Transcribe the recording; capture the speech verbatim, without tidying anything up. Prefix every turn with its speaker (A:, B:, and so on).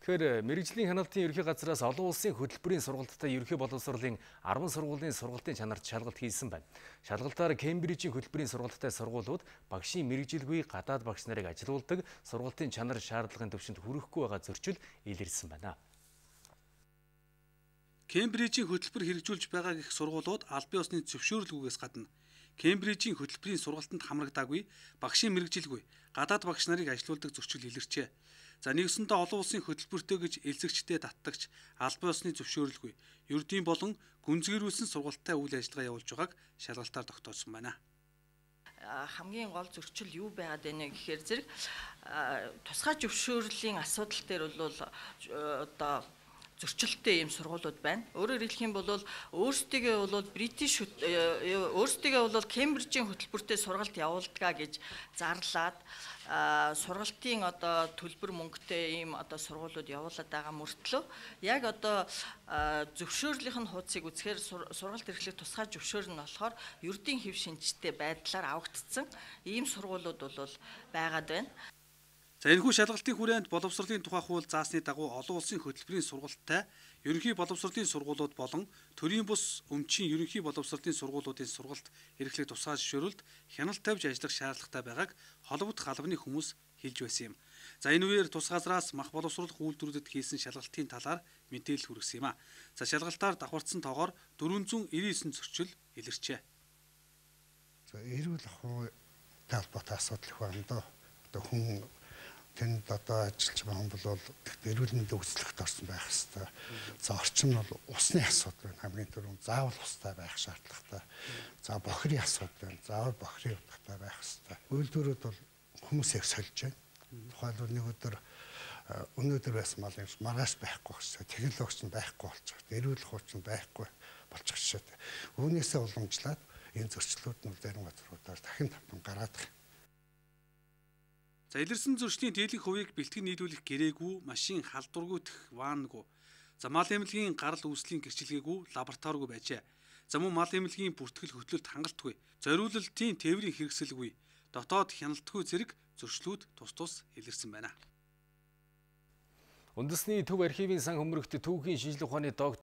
A: Тэгэхээр мэрэгжлийн хяналтын ерөнхий газраас олон улсын хөтөлбөрийн сургалттай ерөнхий боловсролын арван сургуулийн сургалтын чанарт шалгалт хийсэн байна. Шалгалтаар Кембрижийн хөтөлбөрийн сургалттай сургуулиуд багшийн мэрэгжилгүй гадаад багш нарыг ажилуулдаг сургалтын чанар шаардлагын түвшинд хүрэхгүй байгаа зөрчил илэрсэн байна.
B: Кембрижийн хөтөлбөр хэрэгжүүлж байгаа гэх сургуулиуд аль бие усны зөвшөөрлгүйгээс гадна Кембрижийн хөтөлбөрийн сургалтанд хамрагдаагүй багшийн мэрэгжилгүй гадаад багш нарыг ажилуулдаг зөрчил илэрчээ. За нэгсэндээ олон улсын хөтөлбөртэй гэж элзэгчтэй даттагч аль бие усны зөвшөөрлгүй ердийн болон гүнзгийрүүлсэн сургалттай үйл ажиллагаа явуулж байгааг шалгалтаар тогтоосон байна.
C: Хамгийн гол зөрчил юу байгаад байна гэхээр зэрэг тусгай зөвшөөрлийн асуудал дээр бол одоо зөрчилтэй ийм сургуулиуд байна. Өөрөөр хэлэх юм бол өөрсдийгөө бол Бритиш өөрсдийгөө бол Кембрижийн хөтөлбөртэй сургалт явуулдгаа гэж зарлаад сургалтын одоо төлбөр мөнгөтэй ийм одоо сургуулиуд явуулаад байгаа мөртлөө яг одоо зөвшөөрлийнх нь хуудсыг үзэхээр сургалт эрхлэх тусгай зөвшөөр нь болохоор ердийн хэв шинжтэй байдлаар авагдсан ийм сургуулиуд бол байгаад байна.
B: За энэхүү шалгалтын хүрээнд боловсролын тухай хууль заасны дагуу олон улсын хөтөлбөрийн сургалттай ерөнхий боловсролын сургуулиуд болон төрийн бус өмчийн ерөнхий боловсролын сургуулиудын сургалт эрхлэх тусгай зөвшөөрөлд хяналт тавьж ажиллах шаардлагатай байгааг холбогд халбаны хүмүүс хэлж байсан юм. За энэ үеэр тус газраас мах боловсруулах үйлдвэрүүдэд хийсэн шалгалтын талаар мэдээлэл хүргэсэн юм а. За шалгалтаар давхарцсан тоогоор дөрвөн зуун ирсэн девять зөрчил илэрчээ.
D: За эрүүл ахуй талбарт асуудал их байна доо. Одоо хүн тэнд одоо ажиллаж байгаа хүн бол эрүүл мэндийн үзлэгт орсон байх хэрэгтэй. За орчин нь бол усны асуудал байна. Хамгийн түрүүнд заавал устай байх шаардлагатай. За бохирын асуудал байна. Заавал бохирын утгатай байх хэрэгтэй. Үйлдвэрүүд бол хүмүүсийг сольж байна. Тухайлбал нэг өдөр өнөөдөр байсан мал юм маргааш байхгүй болчихсон. Технологич нь байхгүй болчихсон. Эрүүл хууч нь байхгүй болчихсон. Үүнээсээ уламжлаад энэ зөрчлүүд нь зарим газруудаар дахин тавтан гараад байна.
B: За илэрсэн зөрчлийн дийлэнх хувийг бэлтгэн нийлүүлэх гэрээгүй, машин халдваргүйдэх ваангүй. За мал эмнэлгийн гарал үүслийн гэрчилгээгүй, лабораторигүй байжээ. За мөн мал эмнэлгийн бүртгэл хөтлөлт хангалтгүй, зориулалтын тээврийн хэрэгсэлгүй, дотоод хяналтгүй зэрэг зөрчлүүд тус тус илэрсэн байна.
A: Үндэсний төв архивын сан хөмрөгт түүхийн шинжилгээ ухааны доктор